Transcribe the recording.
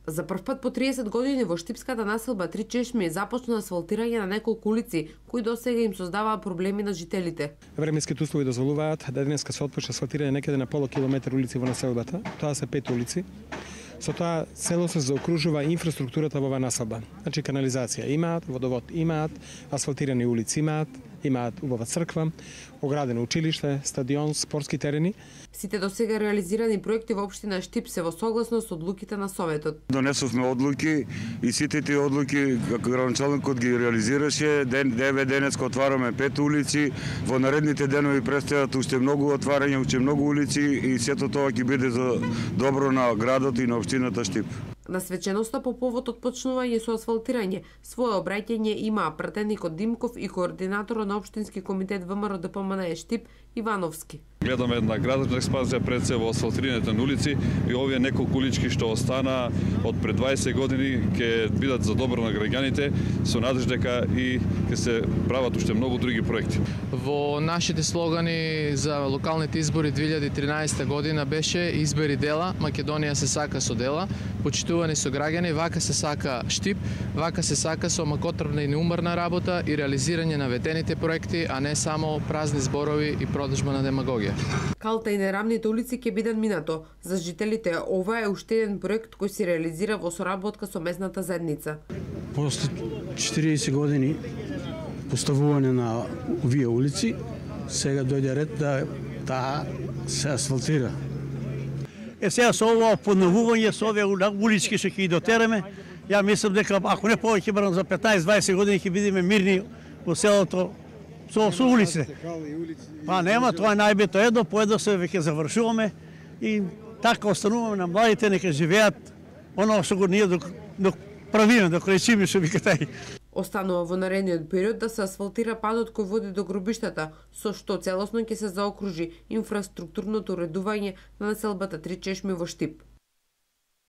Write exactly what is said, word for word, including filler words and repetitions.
За прв пат по триесет години во штипската населба Три чешми започна асфалтирање на неколку улици кои досега им создаваа проблеми на жителите. Временските услови дозволуваат да денеска се отпочне асфалтирање некаде на полу километар улици во населбата. Тоа се пет улици. Со тоа целосно се заокружува инфраструктурата во оваа населба. Значи канализација имаат, водовод имаат, асфалтирани улици имаат, имаат убава црква, оградено училиште, стадион, спортски терени. Сите досега реализирани проекти во општина Штип се во согласност со одлуките на Советот. Донесовме одлуки и сите тие одлуки како градоначалникот ги реализираше. Ден девет денеска отвараме пет улици, во наредните денови предстојат уште многу отварања, уште многу улици и сето тоа ќе биде за добро на градот и на општината Штип. На свеченоста по повод отпочнување со асфалтирање, свое обраќање имаа пратеникот Димков и координаторот на општински комитет ВМРО Д П М Н Штип Ивановски. Гледаме една градочна експанзија пред се во асфалтирањето на улици и овие неколку улички што остана од пред дваесет години ќе бидат за добро на граѓаните, со надеж дека и ќе се прават уште многу други проекти. Во нашите слогани за локалните избори две илјади и тринаесета година беше избери дела, Македонија се сака со дела, почитувани со граѓани, вака се сака Штип, вака се сака со макотрпна и неуморна работа и реализирање на ветените проекти, а не само празни зборови и продажба на демагогија. Калта и нерамните улици ќе бидат минато. За жителите ова е уште еден проект кој се реализира во соработка со местната заедница. После четириесет години поставување на овие улици, сега дојде ред да таа се асфалтира. Е сега со ова подновување, со овие улички што ќе ги дотераме, ја мислам дека ако не повеќе барам за петнаесет-дваесет години ќе бидеме мирни во селото со, со улиците. Па нема, тоа е најбитно, едно по едно се веќе завршуваме и така остануваме на младите, нека живеат оно што го ние док, док правиме, док речиме што вика тај. Останува во наредниот период да се асфалтира патот кој води до гробиштата, со што целосно ќе се заокружи инфраструктурното уредување на населбата Три чешми во Штип.